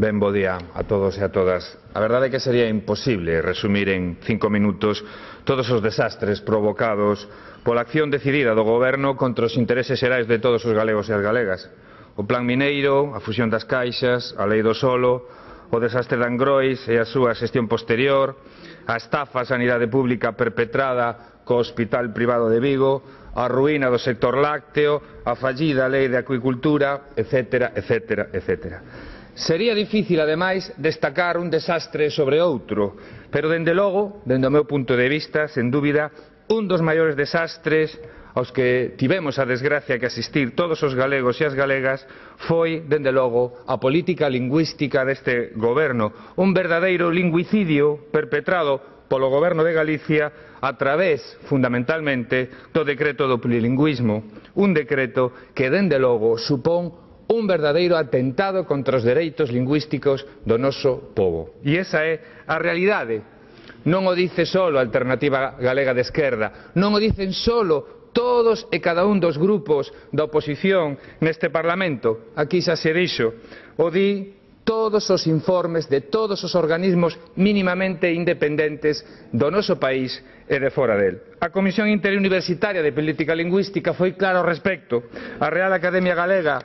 Ben bo día a todos e a todas. A verdade é que sería imposible resumir en 5 minutos todos os desastres provocados pola acción decidida do Goberno contra os intereses xerais de todos os galegos e as galegas. O plan mineiro, a fusión das caixas, a lei do solo, o desastre de Angrois e a súa xestión posterior, a estafa á sanidade pública perpetrada co Hospital Privado de Vigo, a ruína do sector lácteo, a fallida lei de acuicultura, etc., etc., etc. Sería difícil, ademais, destacar un desastre sobre outro, pero, dende logo, dende o meu punto de vista, sen dúbida, un dos maiores desastres aos que tivemos a desgracia que asistir todos os galegos e as galegas foi, dende logo, a política lingüística deste goberno, un verdadeiro lingüicidio perpetrado polo goberno de Galicia a través, fundamentalmente, do decreto do plurilingüismo, un decreto que, dende logo, supón un verdadeiro atentado contra os dereitos lingüísticos do noso pobo. E esa é a realidade. Non o dice só a Alternativa Galega de Esquerda, non o dicen só todos e cada un dos grupos da oposición neste Parlamento. Aquí xa se dixo, o di todos os informes de todos os organismos mínimamente independentes do noso país e de fora del. A Comisión Interuniversitaria de Política Lingüística foi clara ao respecto. A Real Academia Galega,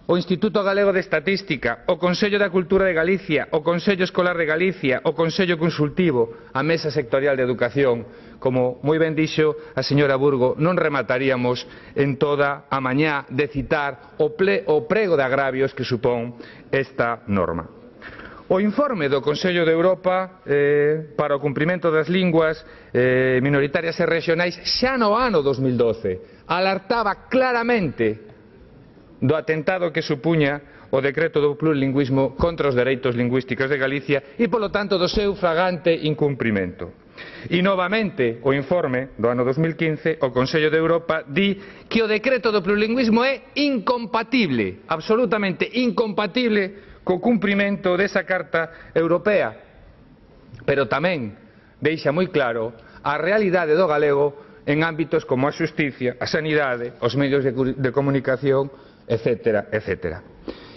o Instituto Galego de Estatística, o Consello da Cultura de Galicia, o Consello Escolar de Galicia, o Consello Consultivo, a Mesa Sectorial de Educación. Como moi ben dixo a señora Burgo, non remataríamos en toda a mañá de citar o prego de agravios que supón esta norma. O informe do Consello de Europa para o cumprimento das linguas minoritarias e rexionais xa no ano 2012 alertaba claramente do atentado que supuña o decreto do plurilingüismo contra os dereitos lingüísticos de Galicia e, polo tanto, do seu flagrante incumprimento. E, novamente, o informe do ano 2015, o Consello de Europa di que o decreto do plurilingüismo é incompatible, absolutamente incompatible co cumprimento desa Carta Europea, pero tamén deixa moi claro a realidade do galego en ámbitos como a xusticia, a sanidade, os medios de comunicación, etc., etc.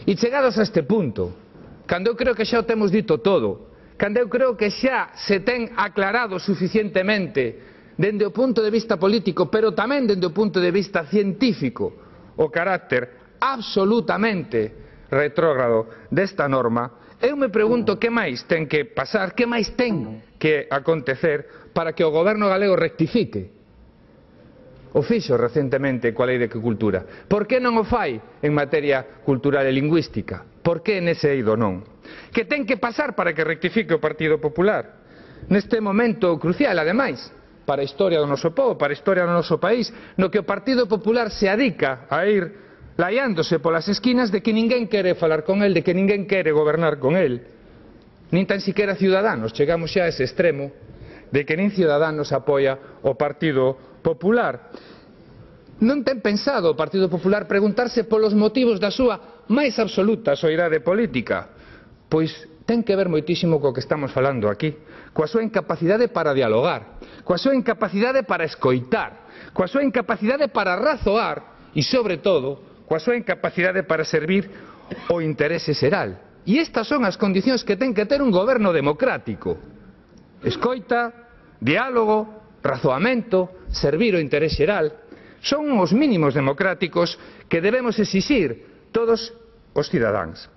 E chegados a este punto, cando eu creo que xa o temos dito todo, cando eu creo que xa se ten aclarado suficientemente dende o punto de vista político, pero tamén dende o punto de vista científico, o carácter absolutamente retrógrado desta norma, eu me pregunto que máis ten que pasar, que máis ten que acontecer para que o goberno galego rectifique. O fixo recentemente coa lei de agricultura. Por que non o fai en materia cultural e lingüística? Por que nese eido non? Que ten que pasar para que rectifique o Partido Popular? Neste momento crucial, ademais, para a historia do noso povo, para a historia do noso país, no que o Partido Popular se adica a ir laiándose polas esquinas de que ninguén quere falar con el, de que ninguén quere gobernar con el. Nin tan siquiera Ciudadanos, chegamos xa a ese extremo de que nin Ciudadanos apoia o Partido Popular. Non ten pensado o Partido Popular preguntarse polos motivos da súa máis absoluta soidade política? Pois ten que ver moitísimo co que estamos falando aquí, coa súa incapacidade para dialogar, coa súa incapacidade para escoitar, coa súa incapacidade para razoar e, sobre todo, coa súa incapacidade para servir o interese xeral. E estas son as condicións que ten que ter un goberno democrático: escoita, diálogo, razoamento, servir o interés xeral. Son os mínimos democráticos que debemos exixir todos os cidadáns.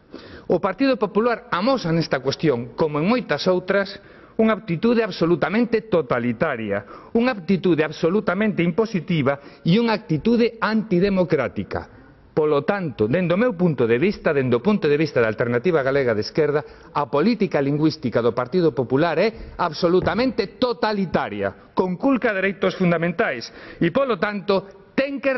O Partido Popular amosa nesta cuestión, como en moitas outras, unha actitude absolutamente totalitaria, unha actitude absolutamente impositiva e unha actitude antidemocrática. Polo tanto, dende o meu punto de vista, dende o punto de vista da Alternativa Galega de Esquerda, a política lingüística do Partido Popular é absolutamente totalitaria, conculca dereitos fundamentais e, polo tanto, ten que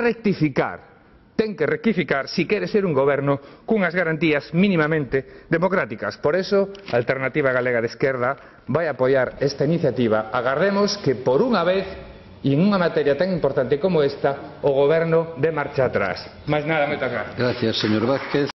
rectificar si quere ser un goberno cunhas garantías mínimamente democráticas. Por eso, a Alternativa Galega de Esquerda vai apoiar esta iniciativa. Agardemos que, por unha vez, e en unha materia tan importante como esta, o goberno dé marcha atrás. Máis nada, moitas gracias. Gracias, señor Vázquez.